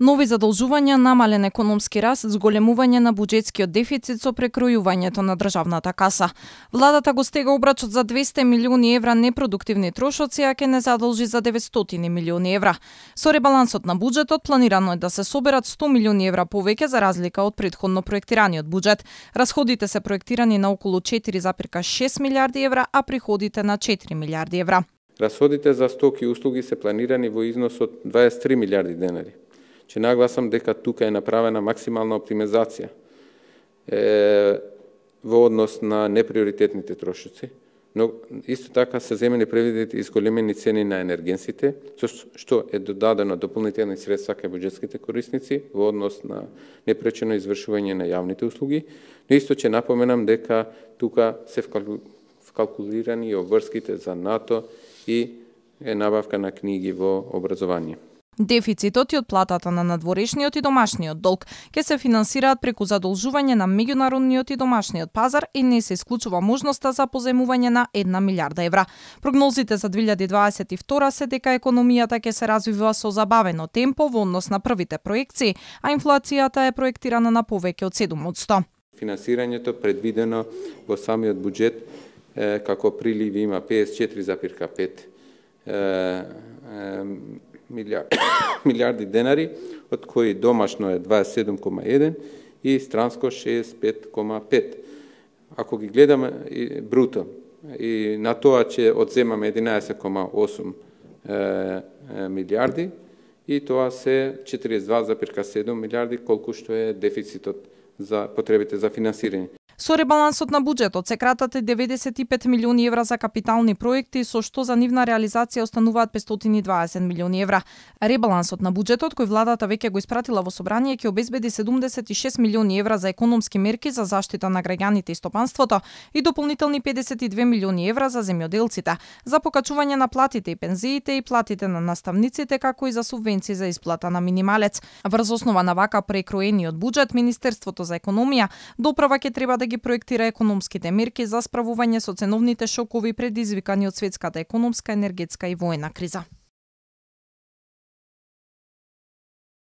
Нови задолжувања, намален економски раст, зголемување на буџетскиот дефицит со прекројувањето на државната каса. Владата го стега обрачот за 200 милиони евра непродуктивни трошоци, а ќе не задолжи за 900 милиони евра. Со ребалансот на буџетот планирано е да се соберат 100 милиони евра повеќе за разлика од претходно проектираниот буџет. Расходите се проектирани на околу 4,6 милиарди евра, а приходите на 4 милиарди евра. Расходите за стоки и услуги се планирани во износ од 23 милиарди денари. Че нагласам дека тука е направена максимална оптимизација во однос на неприоритетните трошоци, но исто така се земени предвидени изголемени цени на енергенсите, што е додадено дополнителни средства кај буџетските корисници во однос на непречено извршување на јавните услуги, но исто ќе напоменам дека тука се вкалкулирани и обврските за НАТО и набавка на книги во образование. Дефицитот и од платата на надворешниот и домашниот долг ќе се финансираат преку задолжување на меѓународниот и домашниот пазар и не се исклучува можноста за позаемување на 1 милиарда евра. Прогнозите за 2022 се дека економијата ќе се развива со забавено темпо во однос на првите проекции, а инфлацијата е проектирана на повеќе од 7%. Финансирањето предвидено во самиот буџет како приливи има 54,5 милиарди денари, од кои домашно е 27,1 и странско 65,5. Ако ги гледаме бруто и на тоа ќе одземаме 11,8 милиарди и тоа се 42,7 милиарди колку што е дефицитот за потребите за финансирање. Со ребалансот на буџетот се кратат 95 милиони евра за капитални проекти, со што за нивна реализација остануваат 520 милиони евра. Ребалансот на буџетот, кој владата веќе го испратила во собрание, ќе обезбеди 76 милиони евра за економски мерки за заштита на граѓаните и стопанството и дополнителни 52 милиони евра за земјоделците, за покачување на платите и пензиите и платите на наставниците, како и за субвенции за исплата на минималец. Врз основа на вака прекроениот буџет, Министерството за економија доправа ќе треба да ги проектира економските мерки за справување со ценовните шокови предизвикани од светската економска, енергетска и воена криза.